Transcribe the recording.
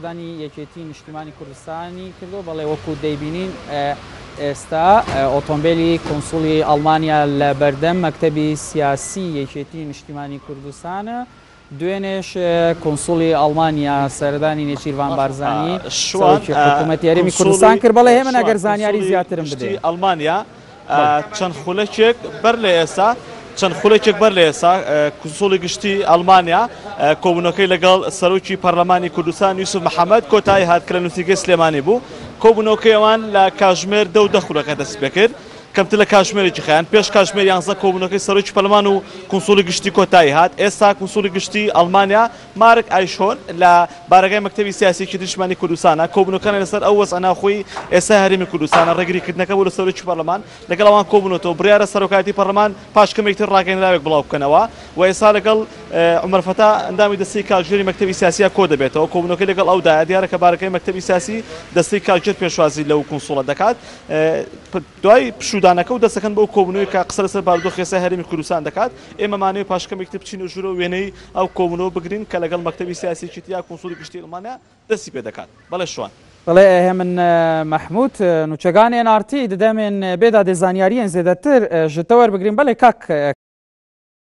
سەردانی یەکێتی نیشتیمانی کوردستانی کردووە، بەڵێ وەکو دەیبینین ئێستا ئۆتۆمبێلی کونسوڵی ئەڵمانیا لە بەردەم مەکتەبی سیاسی یەکێتی نیشتیمانی کوردستانە، دوێنێش کونسوڵی ئەڵمانیا سەردانی نێچیرڤان بارزانی سەرۆکی حکوومەتی هەرێمی کوردستان کرد، بەڵێ هێمن ئەگەر زانیاری زیاترم بدەیە. ئەڵمانیا چەند خولەکێک بەر لە ئێستا چەند خولەکێک بەر لە ئێستا کونسوڵی گشتی ئەڵمانیا کۆبوونەکەی لەگەڵ سەرۆکی پەرلەمانی کوردستان یوسف محەممەد کۆتایی هات کە لە نووسینگەی سلێمانی بوو. کۆبوونەوەکەی ئەوان لە کاژمێر 10 و 10 خولەکە دەست پێکرد، کەمتر لە کاژمێرێکی خایاند. پێش کاژمێر 11 کۆبوونەکەی سەرۆکی پەرلەمان و کونسوڵی گشتی کۆتایی هات. ئێستا کونسوڵی گشتی ئەڵمانیا مارک ئایشهۆرن لە بارەگای مەکتەبی سیاسی یەکێتی نیشتمانی کوردستانە، کۆبوونەوەکانیان لەسەر ئەو وەزعە ناوخۆیی ئێستای هەرێمی کوردستانە، ڕێگریکردنەکە بۆ لە سەرۆکی پەرلەمان لەگەڵ ئەوان کۆبوونەتەوە، بڕیارە سەرۆکایەتی پەرلەمان پاش کەمێک تر ڕاگەیەنراوێک بڵاو بکەنەوە و ئێستا لەگەڵ عومەر فەتا ئەندامی دەستەی کارگێری مەکتەبی سیاسیە کۆدەبێتەوە، کۆبوونەوەکەی لەگەڵ ئەودایە، دیارە کە بارەگای مەکتەبی سیاسی دەستەی کارگێر پێشوازی لەو کونسوڵە دەکات. دوای پشوودانەکە و دەست دەکەن بەو کۆبوونەوەی کە قسە لەسەر بارودۆخی ئێستای هەرێمی کوردستان دەکات، ئێمە مانەوێ پاش کەمێک تر بچینە ژوورەوە وێنەی ئەو کۆبوونەوە بگرین کە لەگەڵ مەکتەبی سیاسی یەکێتی یا کونسوڵی گشتی ئەڵمانیا دەستی پێ دەکات. بەڵێ شوان. بەڵێ هێمن مەحمود نوچەگان ئێن ئاڕ تی ددەمێن بێدا دێ زانیاریێن زێدەتر ژ تە وەربگرین بەڵێ کاک.